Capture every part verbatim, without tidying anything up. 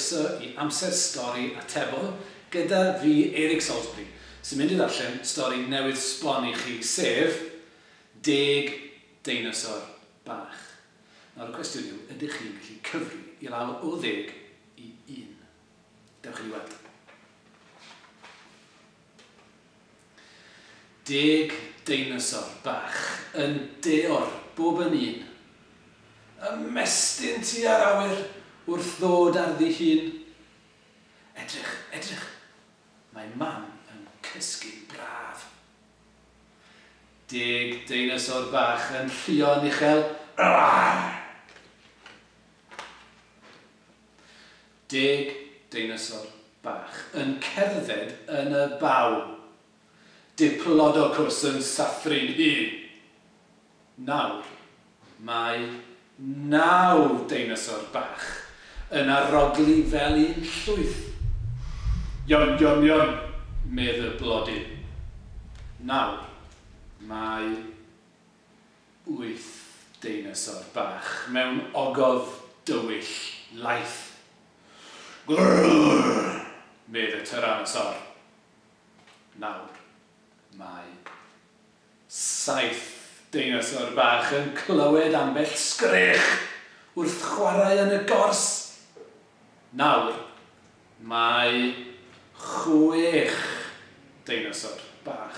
Croeso i Amser Stori Atebol gyda fi, Eric Salisbury, sy'n mynd i ddarllen stori newydd sbon i chi, sef Deg Deinosor Bach. Nawr y cwestiwn yw, ydych chi'n gallu cyfri i lawr o ddeg i un? Dewch i ni weld. Deg deinosor bach yn deor bob yn un. Ymestyn tua'r awyr wrth ddod ar ddihun. Edrych, edrych, mae mam yn cysgu'n braf. Deg deinosor bach yn rhuo'n uchel. Deg deinosor bach yn cerdded yn y baw. Diplodocus yn sathru'n hu. Nawr, mae naw deinosor bach yn arogli fel un llwyth. Yum, yum, yum, medd y blodyn. Nawr, mae wyth deinosor bach mewn ogof dywyll laith. Grrrr, medd y tyrannosor. Nawr, mae saith deinosor bach yn clywed ambell sgrech wrth chwarae yn y gors. Nawr, mae chwech deinosor bach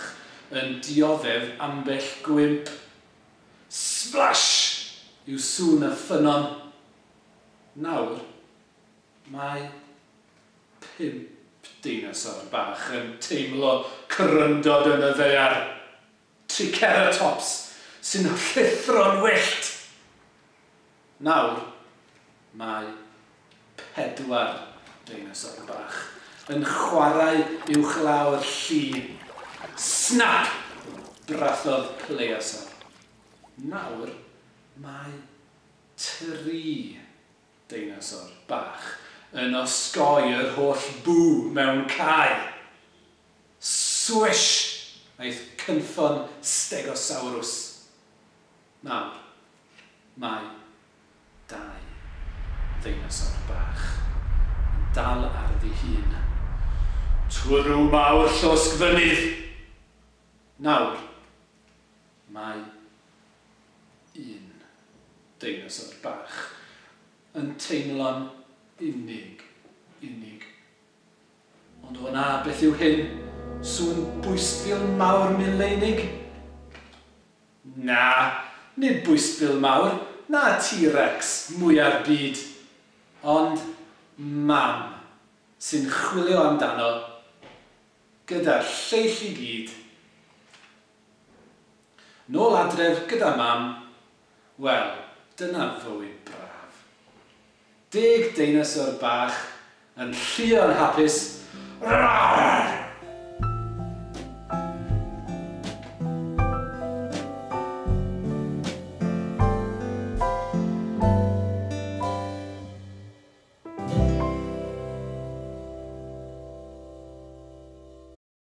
yn dioddef ambell gwymp. Splash! Yw sŵn y ffynnon. Nawr, mae pump deinosor bach yn teimlo cryndod yn y ddaear. Triceratops sy'n rhuthro'n wyllt. Nawr, mae pedwar deinosor bach yn chwarae uwchlaw'r lli. Snap! Brathodd Pleiosaur. Nawr, mae tri deinosor bach yn osgoi yr holl bŵ mewn cae. Swish! Aeth cynffon Stegosaurus. Nawr, mae dau ddeinosor bach yn dal ar ddihun. Twrw mawr llosg fynydd! Nawr, mae un deinosor bach yn teimlo'n unig, unig. Ond o na, beth yw hyn? Sŵn bwystfil mawr mileinig? Na, nid bwystfil mawr, na T-Rex mwya'r byd. Ond mam sy'n chwilio amdano gyda'r lleill i gyd. Nôl adref gyda mam, wel, dyna fywyd braf. Deg deinosor bach yn rhuo'n hapus. Rawr!